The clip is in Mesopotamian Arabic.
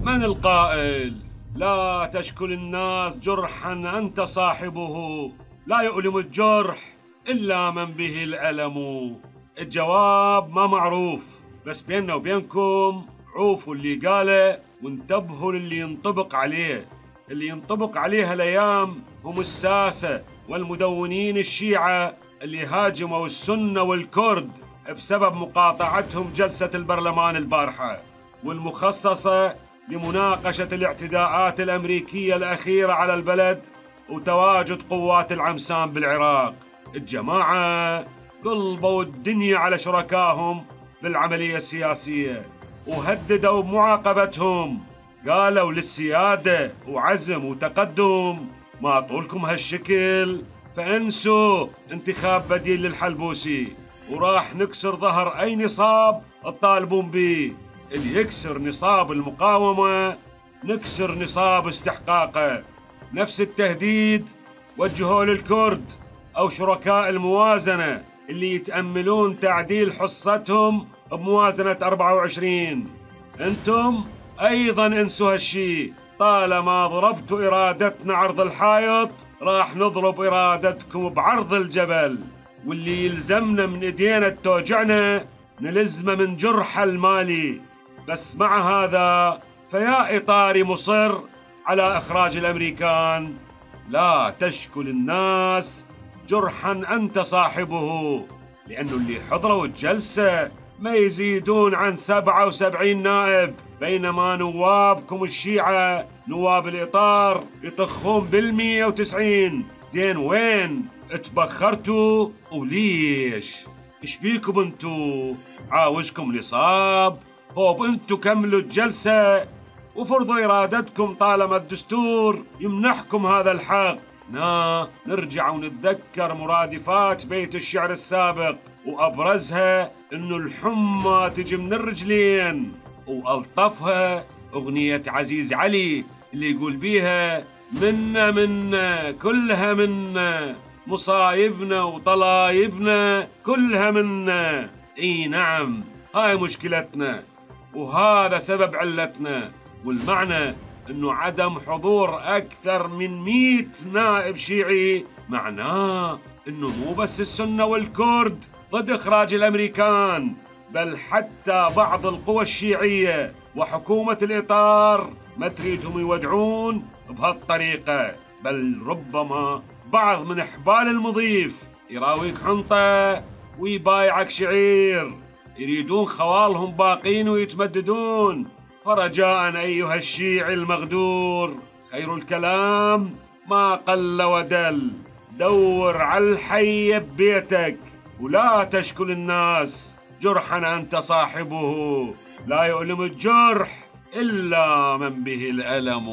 من القائل لا تشكل الناس جرحا أنت صاحبه، لا يؤلم الجرح إلا من به الألم. الجواب ما معروف، بس بيننا وبينكم عوفوا اللي قاله وانتبهوا للي ينطبق عليه. اللي ينطبق عليه الأيام هم الساسة والمدونين الشيعة اللي هاجموا السنة والكرد بسبب مقاطعتهم جلسة البرلمان البارحة والمخصصة لمناقشة الاعتداءات الأمريكية الأخيرة على البلد وتواجد قوات العمسان بالعراق. الجماعة قلبوا الدنيا على شركائهم بالعملية السياسية وهددوا بمعاقبتهم، قالوا للسيادة وعزم وتقدم ما طولكم هالشكل فانسوا انتخاب بديل للحلبوسي وراح نكسر ظهر أي نصاب الطالبون به. اللي يكسر نصاب المقاومة نكسر نصاب استحقاقه. نفس التهديد وجهوه للكرد أو شركاء الموازنة اللي يتأملون تعديل حصتهم بموازنة 24. انتم أيضا انسوا هالشي، طالما ضربتوا إرادتنا عرض الحائط راح نضرب إرادتكم بعرض الجبل، واللي يلزمنا من إيدينا توجعنا نلزمه من جرح المالي. بس مع هذا فيا إطاري مصر على إخراج الأمريكان. لا تشكل الناس جرحا أنت صاحبه، لأنه اللي حضروا الجلسة ما يزيدون عن 77 نائب، بينما نوابكم الشيعة نواب الإطار يطخون بال190. زين وين اتبخرتوا وليش؟ ايش بيكم انتو؟ عاوزكم نصاب؟ طوب انتو كملوا الجلسة وفرضوا إرادتكم طالما الدستور يمنحكم هذا الحق. نرجع ونتذكر مرادفات بيت الشعر السابق، وأبرزها إنه الحمى تجي من الرجلين، وألطفها أغنية عزيز علي اللي يقول بيها منا كلها منا، مصايبنا وطلايبنا كلها منا. اي نعم، هاي مشكلتنا وهذا سبب علتنا. والمعنى انه عدم حضور اكثر من 100 نائب شيعي معناه انه مو بس السنة والكرد ضد اخراج الامريكان، بل حتى بعض القوى الشيعية وحكومة الاطار ما تريدهم يودعون بهالطريقة، بل ربما بعض من حبال المضيف يراويك حنطة ويبايعك شعير، يريدون خوالهم باقين ويتمددون. فرجاء أيها الشيعي المغدور، خير الكلام ما قل ودل، دور على الحي ببيتك ولا تشكل الناس جرحا أنت صاحبه، لا يؤلم الجرح إلا من به الألم.